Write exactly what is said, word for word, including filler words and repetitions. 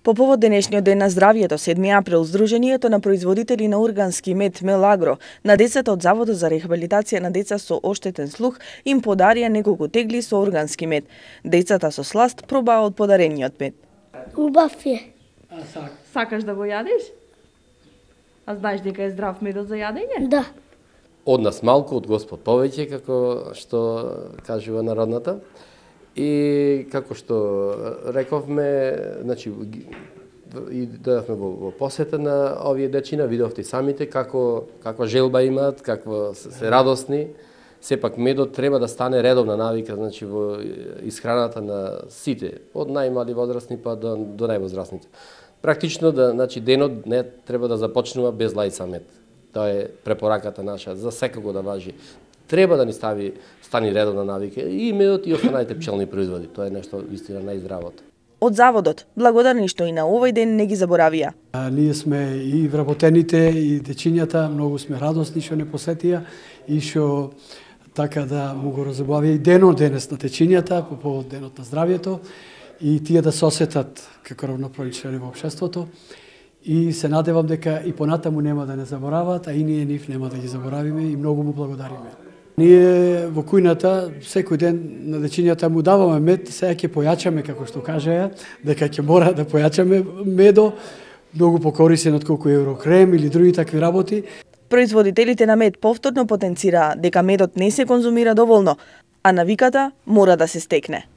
По повод денешниот ден на здравието, седми април, Сдруженијето на производители на органски мед Мелагро на децата од Заводот за рехабилитација на деца со оштетен слух им подарија неколку тегли со органски мед. Децата со сласт пробаа од подарениот мед. Убав е. А сак. Сакаш да го јадеш? А знаеш дека е здрав медот за јадење? Да. Од нас малку, од Господ повеќе, како што кажува народната. И како што рековме, значи и дојавме во, во посета на овие дечина, видовте самите како каква желба имаат, какво се радосни. Сепак медот треба да стане редовна навика, значи во исхраната на сите, од најмали возрастни па до, до највозрастните. Практично да, значи денот не треба да започнува без лајца мед. Тоа е препораката наша, за секако да важи. Треба да ни стави стани редовна навика и медот и останалите пчелни производи. Тоа е нешто вистина најздравото. Од Заводот, благодарни што и на овој ден не ги заборавија. А, ние сме и вработените и дечињата, многу сме радосни што не посетија и што така да му го разобавија и денот денес на дечињата по повод денот на здравието и тие да се осетат како равноправни члени во општеството. И се надевам дека и понатаму нема да не заборават, а и ние нив нема да ги заборавиме и многу му благодариме. Ние во кујната секој ден на дечињата му даваме мед, сега ќе појачаме, како што кажеа, дека ќе мора да појачаме медо, многу покорисен од колку еврокрем или други такви работи. Производителите на мед повторно потенцираа дека медот не се конзумира доволно, а навиката мора да се стекне.